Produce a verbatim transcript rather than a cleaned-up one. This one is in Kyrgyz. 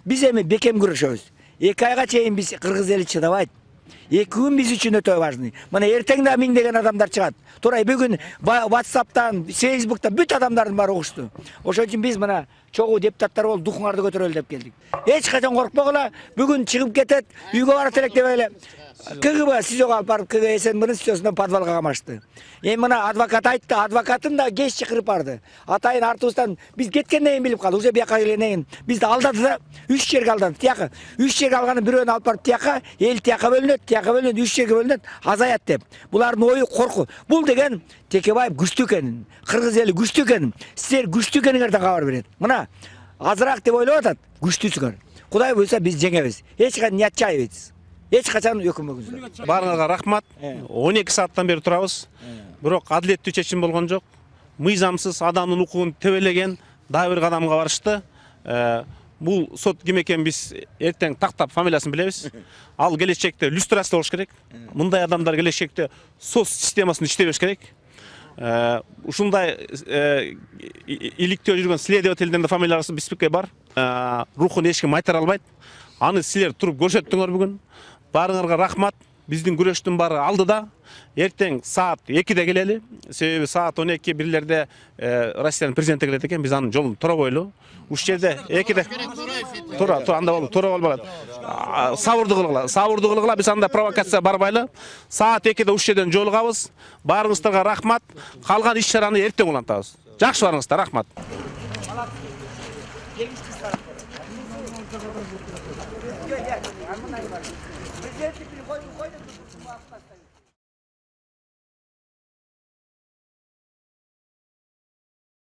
Биз эми бекем күрөшөбүз. эки айга чейин биз кыргыз эли чыдабайт. эки күн биз үчүн өтө важный. Мына эртең да миңдеген адамдар чыгат. Турай бүгүн WhatsApp'тан, Facebook'тан бүт адамдардын баары угушту. Ошон үчүн биз мына чогуу депутаттар болуп духуңарды көтөрөлү деп келдик. Эч качан коркпогула, бүгүн чыгып кетет, үйгө барат элек деп эле. КГБ СИЗОго алып барып, КГБ СНБнын СИЗОсунан подвалга камашты. Эми мына адвокат айтты, адвокатын да кеч чакырып барды. Атайын артыбыздан биз кеткенден кийин билип калды. Уже бияка келгенден кийин бизди алдады да, үч жерге алдады. Тияка, үч жерге алганын бирөөнү алып барып тияка, эл тияка бөлүнөт, тияка бөлүнөт, үч жерге бөлүнөт, азаят деп. Булардын ою корку. Бул деген Текебаев күчтүү экенин, кыргыз эли күчтүү экенин, силер күчтүү экениңерден кабар берет. Мына азыраак деп ойлоп атат, күчтүүсүңөр. Кудай буйрса биз жеңебиз. Эч качан не отчаивайтесь. Эч качан өкүнбөңүздөр. Баарыңарга рахмат. он эки сааттан бери турабыз. Бирок адилеттүү чечим болгон жок. Мыйзамсыз адамдын укугун тебелеген дагы бир кадамга барышты. Бул сот ким экенин биз эртең тактап фамилиясын билебиз. Ал келечекте люстрация болуш керек. Мындай адамдар келечекте сот системасын иштебеш керек. Ушундай иликтөө жүргөн следовательдин да фамилиясы биспикке бар. Рухун эч ким айтара албайт. Аны силер туруп көрсөттүңөр бүгүн. Баарыңарга рахмат. Биздин күрөштүн баары алдыда. Эртең саат экиде келели. Себеби саат он эки бирлерде Россиянын президенти келет экен. Биз анын жолун тура койлу. Уш жерде экиде тура, тура анда болуп, тура болбойт. Сабырдуу кылгыла, сабырдуу кылгыла. Биз анда провокация барбайлы. Саат экиде уш жерден жолугабыз. Баарыңыздарга рахмат. Калган иш-чараны эртең улантабыз. Жакшы барыңыздар, рахмат. Good, yeah. I'm